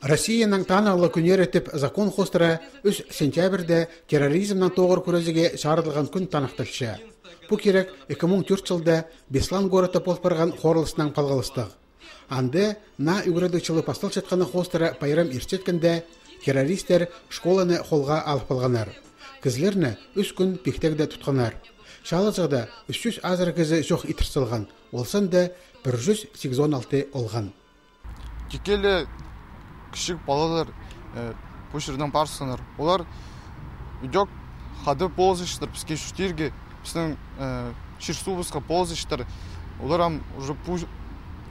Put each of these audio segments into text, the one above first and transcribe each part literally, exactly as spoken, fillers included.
Россияның танығлығ кӱннері тіп закон хоостыра ӱс сентябрьде терроризмнең тоғыр кӱрезіге чарыдылған кӱн таныхталча. Пу кирек ікі муң тӧрт чылда Беслан городта пол парған хорылыснаң палғалыстығ. Анда наа ӱгредіг чылы пасталчатханы хоостыра пайрам иртчеткенде, террористтер школаны холға алып алғаннар. Кізілерні ӱс кӱн пиктегде тутханнар. Чаалаҷахта ӱс чӱс азыра кізі чох итір салған, ол санда пір чӱс сигізон алты олған. Тикке ле кічіг палалар, э, пу чирдең парыбысханнар. Олар ідӧк хайди полызыштыр піске чуртирға, пістің, э, чир-суубысха полызыштыр. Олар ам уже пу,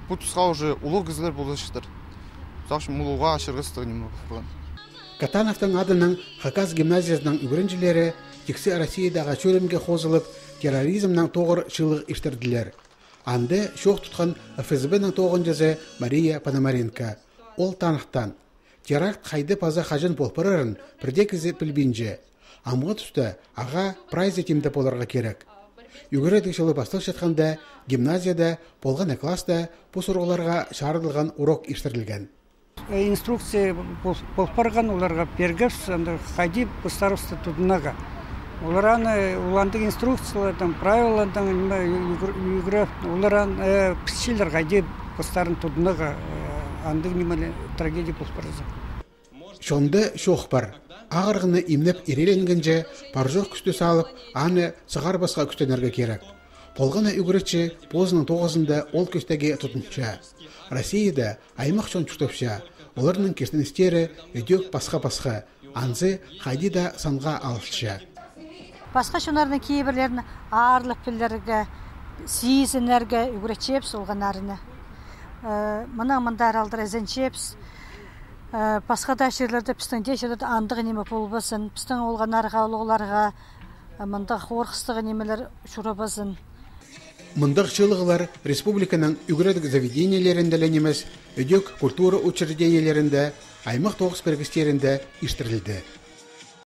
пу тусха уже улуғ кізілер полызыштыр. Сағынчам, улуғ ачырғастығ ниме пол парған. Катановтың адынаң Хакас гимназиязының ӱгренҷілері тиксі Россиядағы чӧрімге хозылып, терроризмнең тоғыр чыылығ иртірділер. Анда чоох тутхан ФСБ-нің тоғынҷызы Мария Пономаренко. Ол таныхтаан: теракт хайди паза хаҷан пол парарын пір дее кізі пілбинче. Амғы туста ағаа прайзы тимде поларға кирек. Ӱгредіг чылы пасталчатханда, гимназияда, полған на класста пу сурығларға чарыдылған урок иртірілген. Э, инструкция пол, пол парған, оларға пиргебіс, анда хайди постарыбысты тудынарға. Олар аны, ол андағ инструкциялардаң, правилалардаң, ниме, ӱгр-, ӱгреп, олар аны, э, пілчелер, хайди постарын тудынарға, э, андағ нимелер, трагедия пол парза. Чонда чоох пар. Ағырығны имнеп ирееленгенҷе, пар-чох кӱсті салып, аны сығарбасха кӱстенерге кирек. Полған на ӱгретчі позының тоғызында ол кӧстегі тудынча. Россияда аймах чон чуртапча, оларның киртіністері ідӧк пасха-пасха, анзы хайди даа санға алылча. Пасха чоннарның кибірлерін аарлап пілерге, сизінерге ӱгретчебіс олғаннарны. Э, мынаң мындар алдыра ізенчебіс. Э, пасха даа чирлерде, пістің дее чирлерде андағ ниме полбазын, пістің олғаннарға, улуғларға, э, мындағ хорғыстығ нимелер чурабазын. Мындағ чыылығлар республиканың ӱгредіг заведениелерінде ле нимес, ідӧк культура учреждениелерінде, аймах тоғыс пірігістерінде иртірілді.